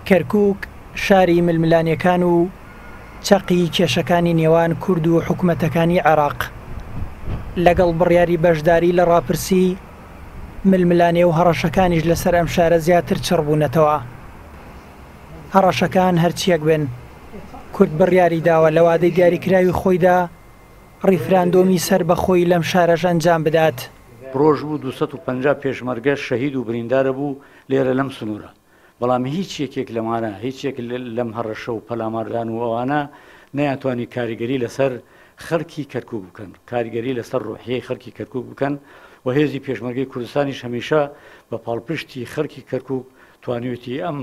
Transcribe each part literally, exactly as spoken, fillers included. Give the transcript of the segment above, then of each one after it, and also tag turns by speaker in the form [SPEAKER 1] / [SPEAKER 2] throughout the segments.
[SPEAKER 1] کەرکوک شاری ململانێکان و چەقی کێشەکانی نێوان کورد و حکومەتەکانی عێراق، لەگەڵ بڕیاری بەشداری لە ڕاپرسی، ململانێ و هەڕەشەکانیش لەسەر ئەم شارە زیاتر چڕبوونەتەوە. هەڕەشەکان هەرچیەک بن، کورد بڕیاری داوە لە وادەی دیاریکراوی خۆیدا ڕیفراندۆمی سەربەخۆی لەم شارەش ئەنجام بدات.
[SPEAKER 2] ڕۆژ بوو دوو سەد و پەنجا پێشمەرگە شەهید و بریندارە بوو لێرە لەم سنوورە، بەڵام هیچ یەکێک لەمانە، هیچ یەک لەم هەڕەشە و پەلاماردان و ئەوانە نەیانتوانی کاریگەری لەسەر خەڵکی کەرکوک بکەن، کاریگەری لەسەر ڕۆحیەی خەڵکی کەرکوک بکەن و هێزی پێشمەرگەی کوردستانیش هەمیشە بە پاڵپشتی خەڵکی کەرکوک توانیوێتی ئەم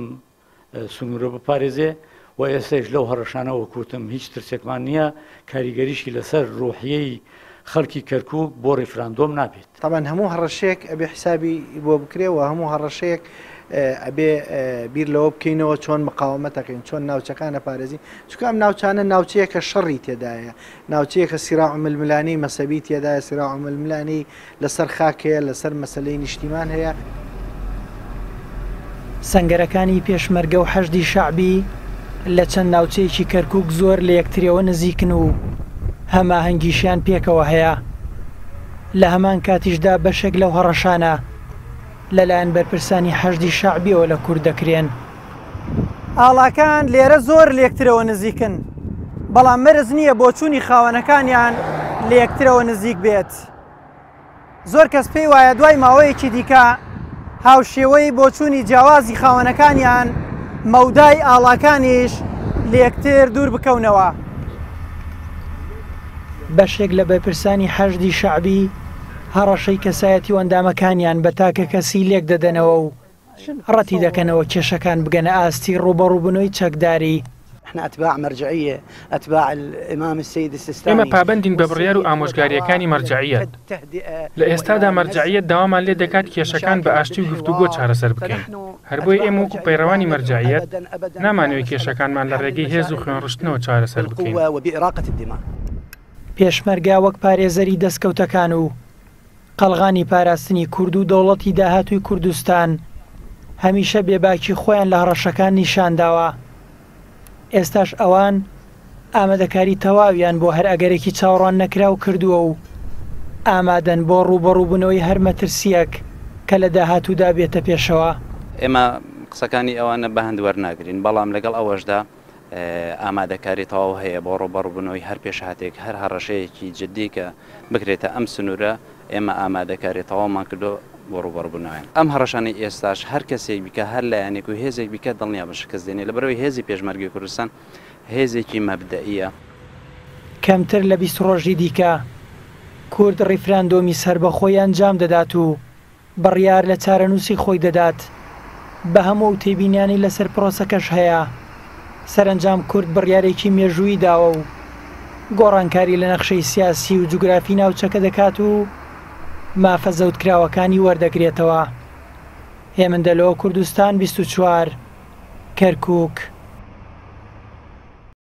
[SPEAKER 2] سنوورە بپارێزێ و ئێستاش لەو هەڕەشانە وەکوتم هیچ ترسێکمان نییە، کاریگەریشی لەسەر ڕۆحیەی خەڵکی کەرکوک بۆ ڕیفراندۆم نابێت.
[SPEAKER 3] طبعا هەموو هەڕەشەیەک ئەبێ حسابی بۆ بکرێ و هەموو هەڕەشەیەک ئەبێ بیر لەوە بکەینەوە چۆن مقاومەتەکەین، چۆن ناوچەکانە پارێزین، چونکە ئەم ناوچانە ناوچەیەکە شەڕی تێدایە، ناوچەیەکە سیراع و ململانێی مەسەبی تێدایە، سیراع و ململانێی لەسەر خاک هەیە، لەسەر مەسلەی نیشتیمان هەیە.
[SPEAKER 1] سەنگەرەکانی پێشمەرگە و حەشدی شەعبی لە چەند ناوچەیەکی کەرکوک زۆر لە یەکترەوە نزیکن و هەماهەنگیشیان پێکەوە هەیە. لە هەمان کاتیشدا بەشێک لەو هەڕەشانە لەلایەن بەرپرسانی حەشدی شەعبیەوە لە کورد دەکرێن. ئاڵاکان لێرە زۆر لێکترەوە نزیکن، بەڵام مەرز نییە بۆچوونی خاوەنەکانیان لێکترەوە نزیک بێت. زۆر کەس پێی وایە دوای ماوەیەکی دیکە هاوشێوەی بۆچوونی جیاوازی خاوەنەکانیان مەودای ئاڵاکانیش لێکتر دوور بکەونەوە. بەشێک لە بەرپرسانی حەشدی شەعبی هەڕەشەی کەسایەتی و ئەندامەکانیان بە تاکە کەسی لێک دەدەنەوە و ڕەتی دەکەنەوە کێشەکان بگەنە ئاستی ڕووبەڕووبوونەوەی چەکداری.
[SPEAKER 4] ئێمە پابەندین بە بڕیار و ئامۆژگاریەکانی مەرجەعیەت. لە ئێستادا مەرجەعیەت داوامان لێ دەکات کێشەکان بە ئاشتی و گفتوگۆ چارەسەر بکەین. هەر بۆیە ئێمە وەکو پەیڕەوانی مەرجەعیەت نامانەوێت کێشەکانمان لە ڕێگەی هێز و خوێنڕشتنەوە چارەسەر بکەین.
[SPEAKER 1] پێشمەرگە وەک پارێزەری دەستکەوتەکان و قەڵغانی پاراستنی کورد و دەوڵەتی داهاتووی کوردستان هەمیشە بێباکی خۆیان لە هەڕەشەکان نیشانداوە. ئێستاش ئەوان ئامادەکاری تەواویان بۆ هەر ئەگەرێکی چاوەڕوان نەکراو کردووە و ئامادەن بۆ ڕووبەڕووبوونەوەی هەر مەترسیەک کە لە داهاتوودا بێتە پێشەوە.
[SPEAKER 5] ئێمە قسەکانی ئەوانە بەهەند وەرناگرین، بەڵام لەگەڵ ئەوەشدا ئامادەکاری تەواو هەیە بۆ ڕووبەڕووبوونەوەی هەر پێشهاتێک، هەر هەڕەشەیەکی جدی کە بکرێتە ئەم سنوورە، ئێمە ئامادەکاری تەواومان کردو بۆ ڕووبەڕووبوونەوەیان. ئەم هەڕەشانەی ئێستاش هەر کەسێک بیکە، هەر لایەنێک و هێزێک بیکە دڵنیا بە شکست دێنێ، لەبەرەوەی هێزی پێشمەرگەی کوردستان هێزێکی مەبدەئیە.
[SPEAKER 1] کەمتر لە بیست ڕۆژی دیکە کورد ڕیفراندۆمی سەربەخۆی ئەنجام دەدات و بڕیار لە چارەنووسی خۆی دەدات. بە هەموو ئەو تێبینیانەی لەسەر پرۆسەکەش هەیە، سەرەنجام کورد بڕیارێکی مێژوویی داوە و گۆڕانکاری لە نەخشەی سیاسی و جوگرافی ناوچەکە دەکات و مافە زەوتکراوەکانی وەردەگرێتەوە. هێمن دەلۆ، کوردستان بیست و چوار، کەرکوک.